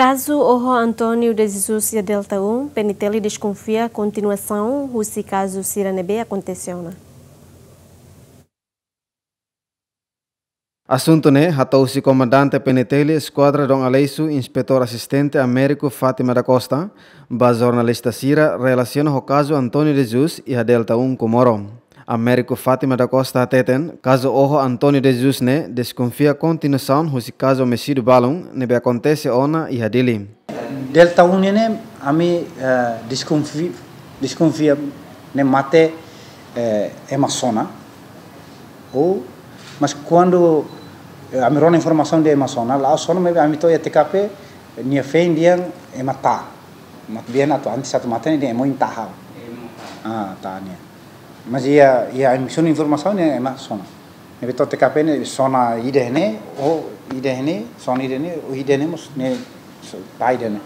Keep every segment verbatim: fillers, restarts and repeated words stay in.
Kazu oho António de Jesus iha Delta um, P N T L deskonfia kontinuasaun husi kazu sira ne'ebé akontese ona. Asuntu ne'e hato'o husi Komandante P N T L Eskuadra Dom Aleixo, Inspetór Asistente Américo Fátima da Costa, ba jornalista sira relasiona ho kazu António de Jesus iha Delta um Comoro. Américo Fátima da Costa hateten, kazu oho António de Jesus ne'e deskonfia kontinuasaun husi kazu omisídiu balun ne'ebé akontese ona iha Dili. Delta um ne'e ami, eh, deskonfi-, deskonfia ne'e mate, eh, ema sona. Ou, mas kuandu, eh, ami rona informasaun dehan ema sona, la'ós sona, maibé ami to'o iha T K P, nia feen dehan ema ta'a. Maibé atu antes atu mate ne'e dehan ema oin ta'a. Ah, ta'a nia. Mas iha, iha ami sona informasaun ne'e ema sona. Ne'ebé to'o T K P ne'e sona ida ne'e, ou ida ne'e, sona ida ne'e, ou ida ne'e mós ne'e so-, ta'a ida ne'e.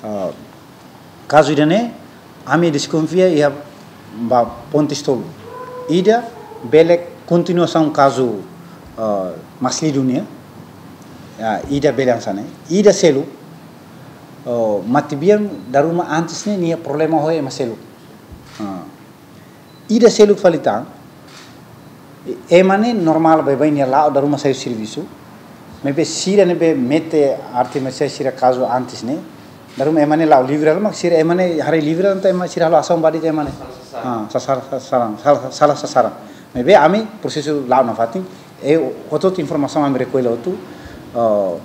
Ah, kazu ida ne'e, ami deskonfia iha ba pontu tolu. Ida bele kontinuasaun kazu, ah, Mas Lidu nian. Ya, ida bele hanesan ne'e. Ida seluk, oh, matebian dala ruma antes ne'e nia problema ho ema seluk. Ah. Ida seluk fali tan, e-, ema ne'e normál baibain nia la'o dala ruma sai servisu. Maibé sira ne'ebé mete arte marsiál sira kazu antes ne'e, dala ruma ema ne'e la'o livre, mak sira ema ne'e haree livre, entaun ema sira halo asaun ba de'it ema ne'e. Sala sasaran. Ah, sasar-, sasaran, sala, sala sasaran. Maibé ami prosesu la'o nafatin, e hotu-hotu informasaun ami rekolla hotu, ah,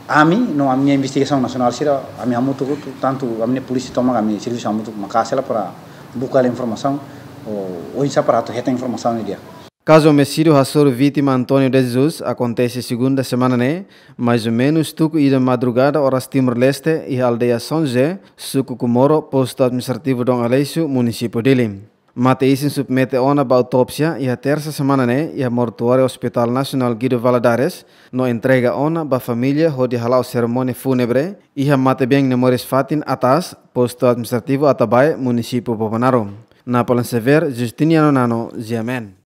ami, no ami-nia investigasaun nasionál sira, ami hamutuk hotu, tantu ami-nia polísia tomak, ami servisu hamutuk maka'as hela para buka hela informasaun, ou, oinsá para atu hetan informasaun ne'e di'ak. Kazu omisídiu hasoru vítima António de Jesus akontese segunda semana ne'e, mais ou menus tuku ida madrugada oras Timor-Leste, iha aldeia São José, suku Comoro, postu administrativu Dom Aleixo, munisípiu Dili. Mate isin submete ona ba autópsia iha tersa semana ne'e iha mortuáriu Hospital Nasionál Guido Valadares, no entrega ona ba família hodi hala'o serimónia fúnebre iha matebian ne'e moris fatin atas, postu administrativu Atabae, munisípiu Bobonaro. Napoleon Xavier, Justiniano Nano, G M N.